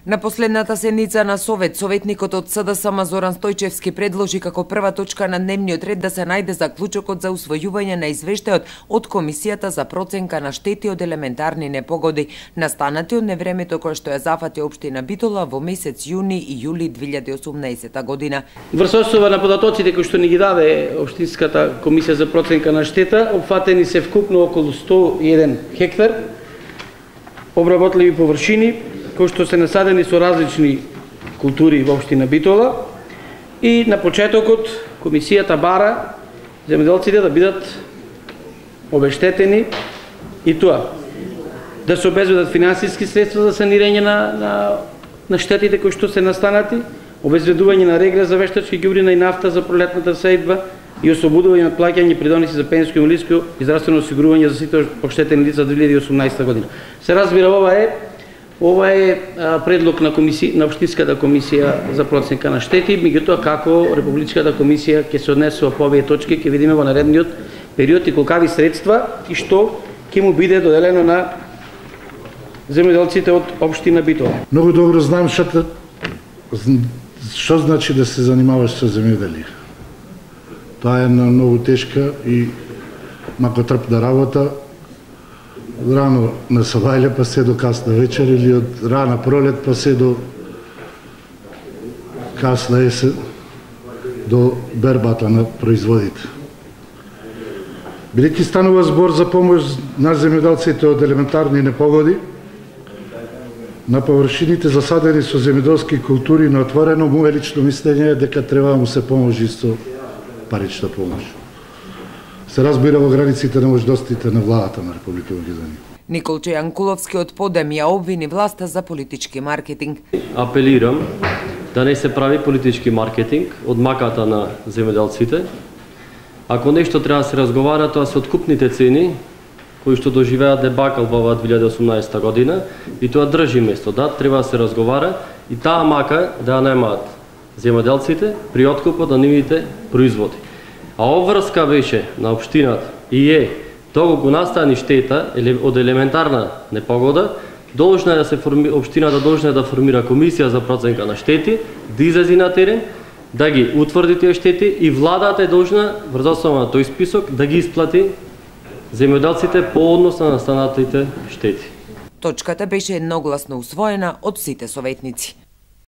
На последната седница на Совет, советникот од СДСМ Зоран Стојчевски предложи како прва точка на дневниот ред да се најде заклучокот за усвојување на извештајот од Комисијата за проценка на штети од елементарни непогоди, настанати од невремето кое што ја зафати општина Битола во месец јуни и јули 2018 година. Врз основа на податоците кои што ни ги даде Општинската комисија за проценка на штета, опфатени се вкупно околу 101 хектар обработливи површини, кои што се насадени со различни култури во општина Битола, и на почетокот комисијата бара земјоделците да бидат обештетени и тоа да се обезбедат финансиски средства за санирање на штетите кои што се настанати, обезбедување на регрес за вештачки ѓубрина и нафта за пролетната сејдба и ослободување од плаќање придоноси за пензиско, инвалидско и здравствено осигурување за сите оштетени лица 2018 година. Се разбира, ова е предлог на Општинската комисија за проценка на штети, меѓутоа како Републичката комисија ќе се однесува по овие точки, ќе видиме во наредниот период и колкави средства и што ќе му биде доделено на земјоделците од општина Битола. Многу добро знам што значи да се занимаваш со земјоделие. Тоа е една многу тешка и макотрпна работа. Рано на сабајле па се до касна вечер или од рана пролет па се до касна есен до бербата на производите. Бидејќи станува збор за помош на земјоделците од елементарни непогоди, на површините засадени со земјоделски култури на отворено, мое лично мислење е дека треба да му се поможи со парична помош. Се разбира во границите на можностите на владата на Република Македонија. Николче Јанкуловски од Подем ја обвини власта за политички маркетинг. Апелирам да не се прави политички маркетинг од маката на земјоделците. Ако нешто треба да се разговара, тоа се откупните цени кои што доживеа дебакал во оваа 2018 година и тоа држи место. Да, треба да се разговара и таа мака да ја немаат земјоделците при откупот на нивните производи. А обврска беше на општината и е доколку настани штета од елементарна непогода, должна е да се општината должна е да формира комисија за проценка на штети, да излезе на терен, да ги утврди тие штети и владата е должна врз основа на тој список да ги исплати земјоделците по однос на настанатите штети. Точката беше едногласно усвоена од сите советници.